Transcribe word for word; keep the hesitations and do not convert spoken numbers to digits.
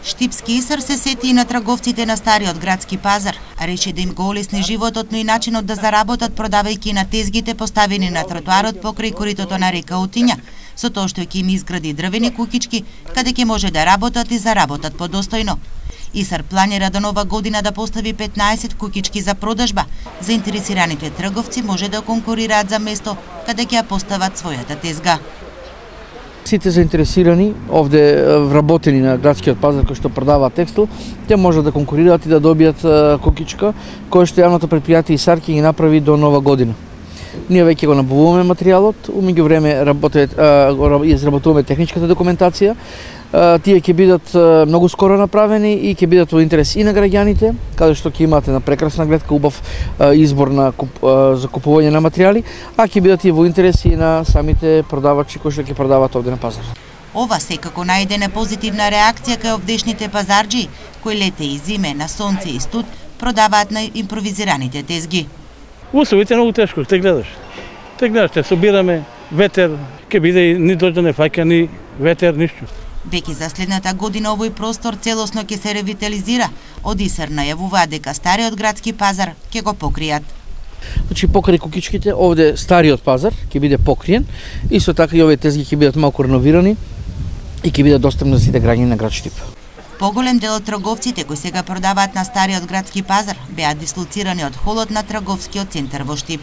Штипски Исар се сети и на трговците на стариот градски пазар, а рече да им го олесни животот, но и начинот да заработат продавајќи на тезгите поставени на тротоарот покрај коритото на река Утиња, со тоа што ќе им изгради дрвени кукички, каде ќе може да работат и заработат подостојно. Исар планира до нова година да постави петнаесет кукички за продажба. Заинтересираните трговци може да конкурираат за место каде ќе ја постават својата тезга. Сите заинтересирани овде вработени на градскиот пазар кои што продаваат текстил, те можат да конкурираат и да добијат кукичка која што јавното предпријатие Исар ќе ги направи до нова година. Ние веќе го набавуваме материјалот, у меѓувреме изработуваме техничката документација. Тие ќе бидат многу скоро направени и ќе бидат во интерес и на граѓаните, каде што ќе имате на прекрасна гледка, убав избор на куп, за купување на материјали, а ќе бидат и во интерес и на самите продавачи кои што ќе продаваат овде на пазар. Ова секако најдена позитивна реакција кај овдешните пазарџи, кои лете и зиме на сонце и студ продаваат на импровизираните тезги. Условите многу тешко, те гледаш. Те гледаш, те собираме, ветер, ќе биде и ни дожда не фаќа, ни ветер, ништо. Веќе за следната година овој простор целосно ќе се ревитализира. Од Исар најавуваат дека стариот градски пазар ќе го покријат. Значи покрај кукичките овде стариот пазар ќе биде покриен, исто така и овие тезги ќе бидат малку реновирани и ќе бидат достапни за сите граѓани на град Штип. Поголем дел од трговците кои сега продаваат на стариот градски пазар беа дислоцирани од холот на трговскиот центар во Штип.